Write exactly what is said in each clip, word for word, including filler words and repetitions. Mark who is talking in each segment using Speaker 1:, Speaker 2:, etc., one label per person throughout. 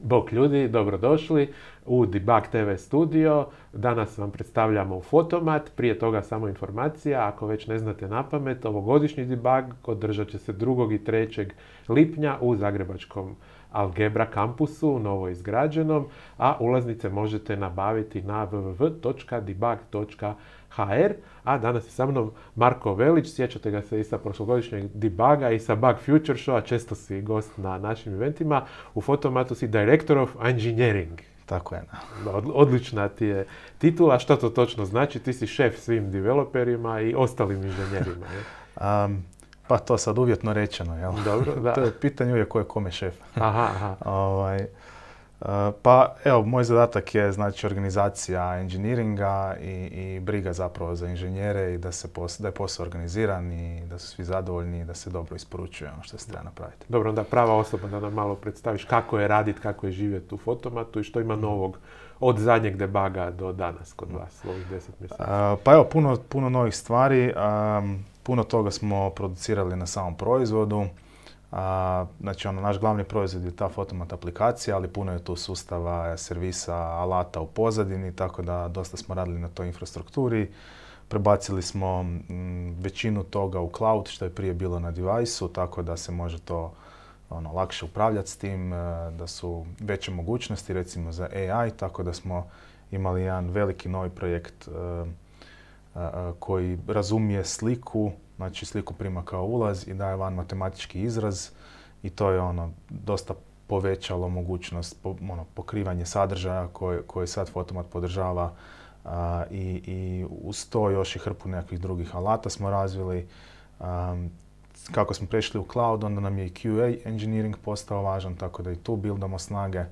Speaker 1: Bok ljudi, dobrodošli u Debug te ve studio. Danas vam predstavljamo Fotomat, prije toga samo informacija, ako već ne znate napamet, ovogodišnji debug održat će se drugog i trećeg lipnja u zagrebačkom Algebra kampusu, novo izgrađenom, a ulaznice možete nabaviti na w w w točka debug točka h r. A danas je sa mnom Marko Velić, sjećate ga se i sa prošlogodišnjeg debuga i sa Bug Future Showa, često si gost na našim eventima. U Fotomatu si Director of Engineering.
Speaker 2: Tako je.
Speaker 1: Odlična ti je titula. Što to točno znači? Ti si šef svim developerima i ostalim inženjerima.
Speaker 2: Um, pa to sad uvjetno rečeno, jel?
Speaker 1: Dobro, da.
Speaker 2: To je pitanje uvijek ko je kome šef.
Speaker 1: Aha, aha.
Speaker 2: ovaj, uh, pa evo, moj zadatak je znači organizacija engineeringa i, i briga zapravo za inženjere i da, se pos, da je posao organiziran i da su svi zadovoljni i da se dobro isporučuje ono što se treba napraviti.
Speaker 1: Dobro, onda prava osoba da nam malo predstaviš kako je raditi, kako je živjeti u Fotomatu i što ima novog od zadnjeg debuga do danas kod vas, ovih deset mjeseci.
Speaker 2: Uh, pa evo, puno, puno novih stvari. Um, puno toga smo producirali na samom proizvodu. A, znači, ono, naš glavni proizvod je ta Fotomat aplikacija, ali puno je tu sustava, servisa, alata u pozadini, tako da dosta smo radili na toj infrastrukturi. Prebacili smo m, većinu toga u cloud, što je prije bilo na device-u, tako da se može to ono, lakše upravljati s tim, da su veće mogućnosti, recimo za A I, tako da smo imali jedan veliki novi projekt a, a, koji razumije sliku, znači sliku prima kao ulaz i daje van matematički izraz i to je ono dosta povećalo mogućnost po, ono, pokrivanje sadržaja koje, koje sad Fotomat podržava a, i, i uz to još i hrpu nekakvih drugih alata smo razvili. Um, kako smo prešli u cloud, onda nam je i Q A engineering postao važan, tako da i tu buildamo snage.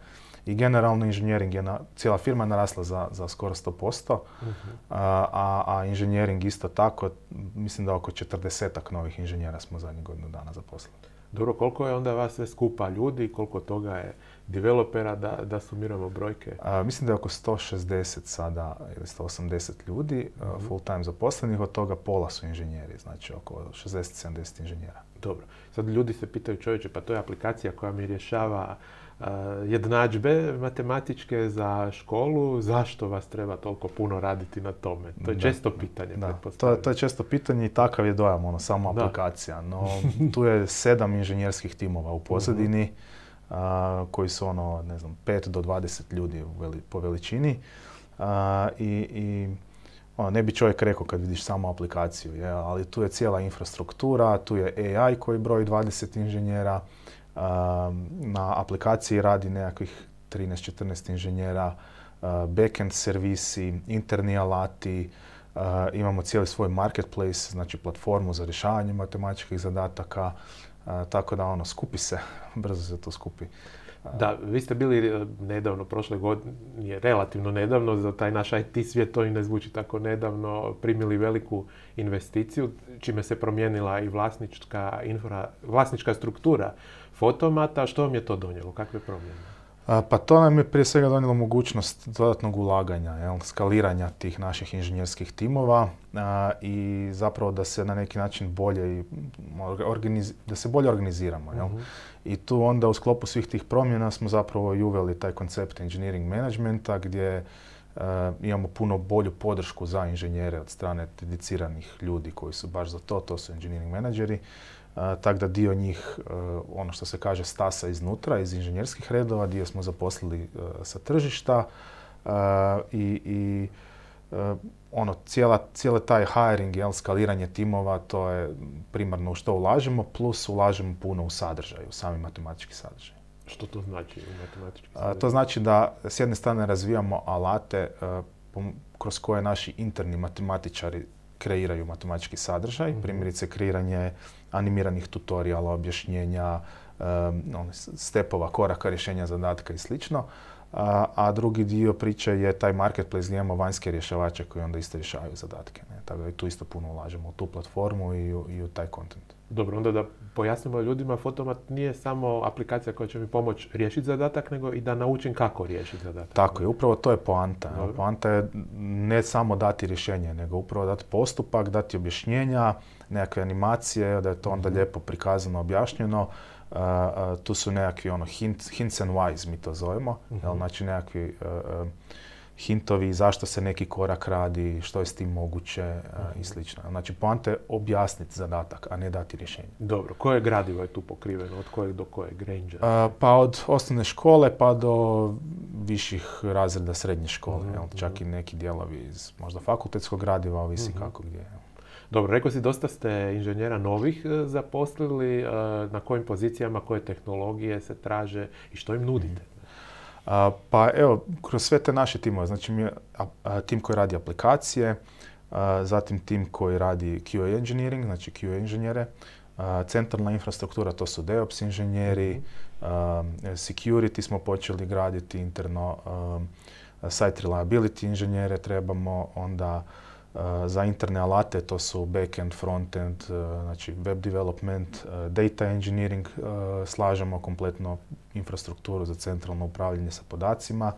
Speaker 2: I generalno inženjering je, na, cijela firma je narasla za, za skoro sto posto, uh-huh. a, a inženjering isto tako, mislim da oko četrdesetak novih inženjera smo zadnjih godinu dana zaposlili.
Speaker 1: Dobro, koliko je onda vas sve skupa ljudi, koliko toga je developera, da, da sumiramo brojke?
Speaker 2: A, mislim da je oko sto šezdeset sada ili sto osamdeset ljudi uh-huh. full time zaposlenih, od toga pola su inženjeri, znači oko šezdeset sedamdeset inženjera.
Speaker 1: Dobro, sad ljudi se pitaju, čovječe, pa to je aplikacija koja mi rješava Uh, jednadžbe matematičke za školu, zašto vas treba toliko puno raditi na tome? To je da, često pitanje.
Speaker 2: Da, to, to je često pitanje i takav je dojam, ono, samo da. aplikacija. No, tu je sedam inženjerskih timova u pozadini, uh, koji su ono, ne znam, pet do dvadeset ljudi veli, po veličini. Uh, i, i ono, ne bi čovjek rekao kad vidiš samo aplikaciju, je, ali tu je cijela infrastruktura, tu je A I koji broji dvadeset inženjera, na aplikaciji radi nekakvih trinaest četrnaest inženjera, backend servisi, interni alati, imamo cijeli svoj marketplace, znači platformu za rješavanje matematičkih zadataka, tako da ono, skupi se, brzo se to skupi.
Speaker 1: Da, vi ste bili nedavno, prošle godine, relativno nedavno, za taj naš I T svijet to i ne zvuči tako nedavno, primili veliku investiciju, čime se promijenila i vlasnička, infra, vlasnička struktura Fotomata. Što vam je to donijelo? Kakve promjene?
Speaker 2: A, pa to nam je prije svega donijelo mogućnost dodatnog ulaganja, jel, skaliranja tih naših inženjerskih timova a, i zapravo da se na neki način bolje, organiz, da se bolje organiziramo. Jel? Uh-huh. I tu onda u sklopu svih tih promjena smo zapravo i uveli taj koncept engineering managementa gdje uh, imamo puno bolju podršku za inženjere od strane dediciranih ljudi koji su baš za to, to su engineering menadžeri. Uh, tako da dio njih, uh, ono što se kaže, stasa iznutra, iz inženjerskih redova, dio smo zaposlili uh, sa tržišta uh, i, i uh, ono, cijela, cijela taj hiring, jel, skaliranje timova, to je primarno u što ulažemo, plus ulažemo puno u sadržaj, u sami matematički sadržaj.
Speaker 1: Što to znači u matematički sadržaj?
Speaker 2: Uh, to znači da s jedne strane razvijamo alate uh, kroz koje naši interni matematičari kreiraju matematički sadržaj, mm-hmm. primjerice kreiranje animiranih tutoriala, objašnjenja, um, stepova, koraka, rješenja zadatka i slično. A, a drugi dio priče je taj marketplace gdje imamo vanjske rješavače koji onda isto rješavaju zadatke. Ne? Tako da i tu isto puno ulažemo u tu platformu i u, i u taj content.
Speaker 1: Dobro, onda da pojasnimo ljudima, Fotomat nije samo aplikacija koja će mi pomoći riješiti zadatak, nego i da naučim kako riješiti zadatak.
Speaker 2: Tako je, upravo to je poanta. Dobro. Poanta je ne samo dati rješenje, nego upravo dati postupak, dati objašnjenja, nekakve animacije, da je to onda lijepo prikazano, objašnjeno. Uh, uh, tu su nekakvi ono, hint, hints and whys, mi to zovemo. Uh-huh. Jel, znači nekakvi uh, uh, hintovi zašto se neki korak radi, što je s tim moguće uh, i slično. Znači, poanta je objasniti zadatak, a ne dati rješenje.
Speaker 1: Dobro, koje gradivo je tu pokriveno? Od kojeg do kojeg rangea?
Speaker 2: Uh, pa od osnovne škole pa do viših razreda srednje škole. Uh-huh. Jel, čak i neki dijelovi iz možda fakultetskog gradiva, ovisi uh-huh. kako gdje.
Speaker 1: Dobro, rekao si, dosta ste inženjera novih zaposlili. Na kojim pozicijama, koje tehnologije se traže i što im nudite?
Speaker 2: Uh, pa evo, kroz sve te naše timove, znači mi je a, a, tim koji radi aplikacije, a, zatim tim koji radi Q A engineering, znači Q A inženjere, a, centralna infrastruktura, to su DevOps inženjeri, a, security smo počeli graditi interno, a, site reliability inženjere trebamo, onda Uh, za interne alate, to su backend, frontend, uh, znači web development, uh, data engineering, uh, slažemo kompletno infrastrukturu za centralno upravljanje sa podacima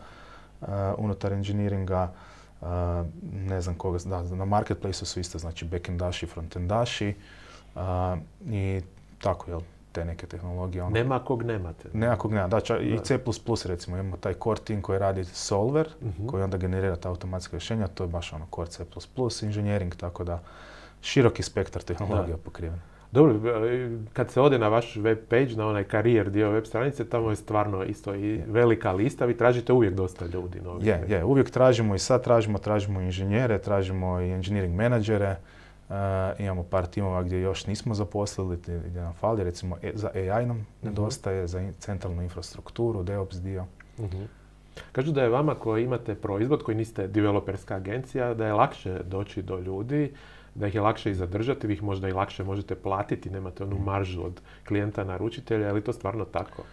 Speaker 2: uh, unutar engineeringa. Uh, ne znam koga, da, na marketplaceu su isto, znači backendaši, frontendaši uh, i tako, jel, te neke tehnologije. Ono.
Speaker 1: Nema kog nemate.
Speaker 2: Nema kog nema, da, ča, i C plus plus recimo, imamo taj core team koji radi solver, uh-huh. koji onda generira ta automatska rješenja, to je baš ono core C plus plus, engineering, tako da široki spektar tehnologija pokriven.
Speaker 1: Dobro, kad se ode na vaš web page, na onaj karijer dio web stranice, tamo je stvarno isto i yeah. velika lista, vi tražite uvijek dosta ljudi.
Speaker 2: Je, yeah, yeah. uvijek tražimo i sad tražimo, tražimo inženjere, tražimo i engineering menadžere. Uh, imamo par timova gdje još nismo zaposlili, gdje nam fali, recimo e, za A I nam uh-huh. nedostaje, za in, centralnu infrastrukturu, DevOps dio.
Speaker 1: Uh-huh. Kažu da je vama koji imate proizvod, koji niste developerska agencija, da je lakše doći do ljudi, da ih je lakše i zadržati, vi ih možda i lakše možete platiti, nemate onu maržu od klijenta naručitelja, je li to stvarno tako?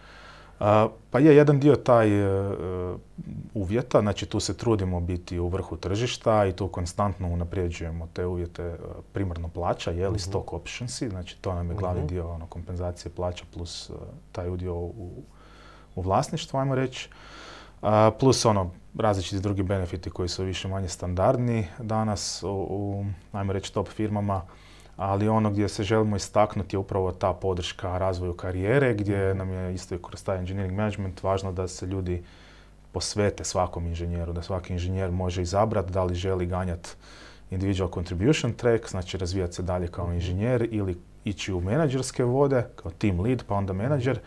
Speaker 2: Uh, pa je jedan dio taj uh, uvjeta, znači tu se trudimo biti u vrhu tržišta i tu konstantno unapređujemo te uvjete, uh, primarno plaća, je li uh-huh. stock optionsi, znači to nam je glavni uh-huh. dio ono, kompenzacije plaća plus uh, taj udio u, u vlasništvu, ajmo reći, uh, plus ono različiti drugi benefiti koji su više manje standardni danas u, u ajmo reći, top firmama. Ali ono gdje se želimo istaknuti je upravo ta podrška razvoju karijere, gdje nam je isto kroz taj engineering management važno da se ljudi posvete svakom inženjeru, da svaki inženjer može izabrati da li želi ganjati individual contribution track, znači razvijati se dalje kao inženjer ili ići u menadžerske vode, kao team lead pa onda menadžer.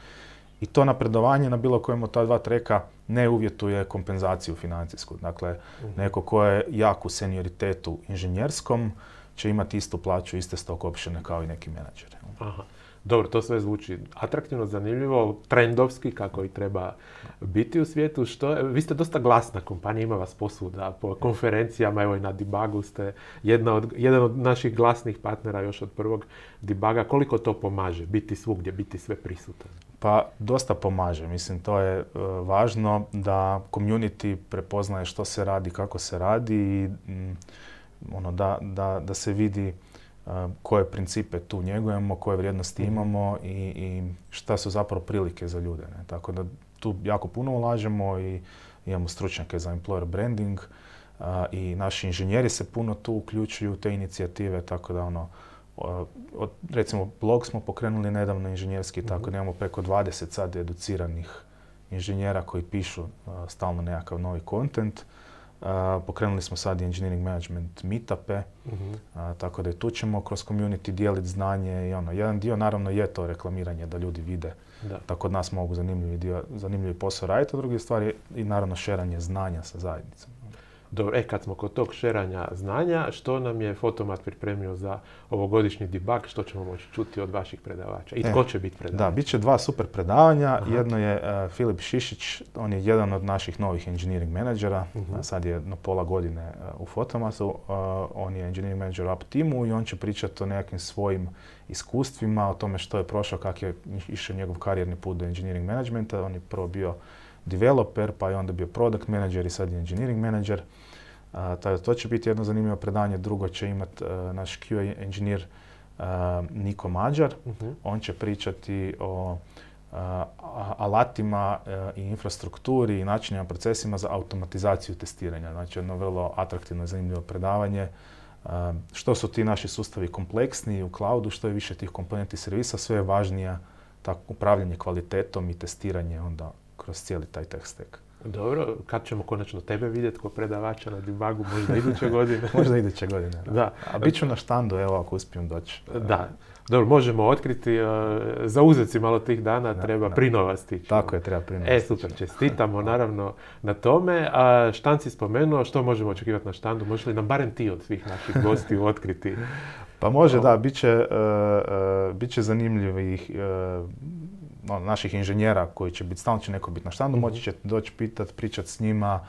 Speaker 2: I to napredovanje na bilo kojem od ta dva treka ne uvjetuje kompenzaciju financijsku. Dakle, neko ko je jak u senioritetu inženjerskom, će imati istu plaću, iste stock optione kao i neki menadžeri.
Speaker 1: Aha. Dobro, to sve zvuči atraktivno, zanimljivo, trendovski, kako i treba biti u svijetu. Što, vi ste dosta glasna kompanija, ima vas posvuda, po konferencijama, evo i na Debugu ste jedna od, jedan od naših glasnih partnera još od prvog Debuga. Koliko to pomaže, biti svugdje, biti sve prisutan?
Speaker 2: Pa dosta pomaže, mislim to je uh, važno da community prepoznaje što se radi, kako se radi i mm, ono, da, da, da se vidi uh, koje principe tu njegujemo, koje vrijednosti mm-hmm. imamo i, i šta su zapravo prilike za ljude. Ne? Tako da tu jako puno ulažemo i imamo stručnjake za employer branding uh, i naši inženjeri se puno tu uključuju u te inicijative, tako da ono, uh, od, recimo blog smo pokrenuli nedavno inženjerski, mm-hmm. tako da imamo preko dvadeset sad educiranih inženjera koji pišu uh, stalno nekakav novi content. Uh, pokrenuli smo sad i engineering management meetupe, uh-huh. uh, tako da i tu ćemo kroz community dijeliti znanje i ono, jedan dio naravno je to reklamiranje da ljudi vide da, da kod nas mogu zanimljivi, dio, zanimljivi posao raditi, a druge stvari i naravno šeranje znanja sa zajednicom.
Speaker 1: Dobro, e, kad smo kod tog šeranja znanja, što nam je Fotomat pripremio za ovogodišnji debug, što ćemo moći čuti od vaših predavača? I tko e, će biti predavač?
Speaker 2: Da, bit će dva super predavanja. Aha. Jedno je uh, Filip Šišić, on je jedan od naših novih engineering menadžera, uh-huh. sad je na pola godine uh, u Fotomatu. Uh, on je engineering manager u Up Teamu i on će pričati o nekakvim svojim iskustvima, o tome što je prošao, kak je išao njegov karijerni put do engineering managementa. On je prvo bio developer, pa je onda bio product manager i sad je engineering manager. Uh, to će biti jedno zanimljivo predanje. Drugo će imati uh, naš Q A engineer uh, Niko Mađar. Uh-huh. On će pričati o uh, alatima uh, i infrastrukturi i načinima, procesima za automatizaciju testiranja. Znači jedno vrlo atraktivno i zanimljivo predavanje. Uh, što su ti naši sustavi kompleksniji u cloudu, što je više tih komponenti servisa, sve je važnija tako upravljanje kvalitetom i testiranje onda kroz cijeli taj tech stack.
Speaker 1: Dobro, kad ćemo konačno tebe vidjeti kao predavača na debugu, možda iduće godine?
Speaker 2: Možda iduće godine, da.
Speaker 1: da.
Speaker 2: A bit ću na štandu, evo, ako uspijem doći.
Speaker 1: Da. Dobro, možemo otkriti, uh, zauzeti si malo tih dana, da, treba Prinova stići.
Speaker 2: Tako je, treba Prinova
Speaker 1: E, super, čestitamo naravno na tome. A štand si spomenuo, što možemo očekivati na štandu? Može li nam barem ti od svih naših gostiju otkriti?
Speaker 2: Pa može, da, bit će, uh, uh, bit će zanimljivih uh, no, naših inženjera koji će biti, stalno će neko biti na štandu, mm-hmm. moći će doći pitat, pričat s njima,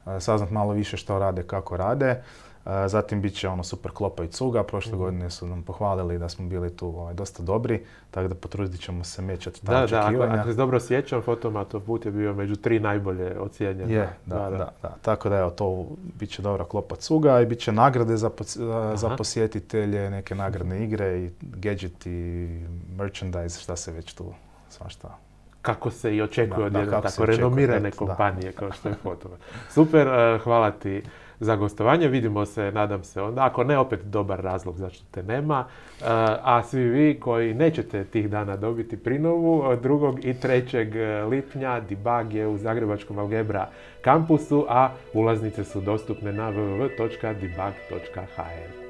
Speaker 2: uh, saznat malo više što rade, kako rade. Uh, zatim bit će ono super klopa i cuga, prošle mm-hmm. godine su nam pohvalili da smo bili tu ovaj, dosta dobri, tako da potrudit ćemo se mečati ta
Speaker 1: da,
Speaker 2: očekivanja.
Speaker 1: Da, ako, ako se dobro sjećam, Fotomatov put je bio među tri najbolje ocijenjene.
Speaker 2: Je, da, da, da, da. Tako da evo, to bit će dobra klopa cuga i bit će nagrade za, za posjetitelje, neke nagradne igre i gadgeti, merchandise, šta se već tu svašta.
Speaker 1: Kako se i očekuje da, od jedne tako renomirane kompanije da, kao što je Fotomat. Super, uh, hvala ti za gostovanje. Vidimo se, nadam se onda, ako ne, opet dobar razlog zašto te nema. Uh, a svi vi koji nećete tih dana dobiti Prinovu, od drugog i trećeg lipnja debug je u Zagrebačkom Algebra kampusu, a ulaznice su dostupne na w w w točka debug točka h r.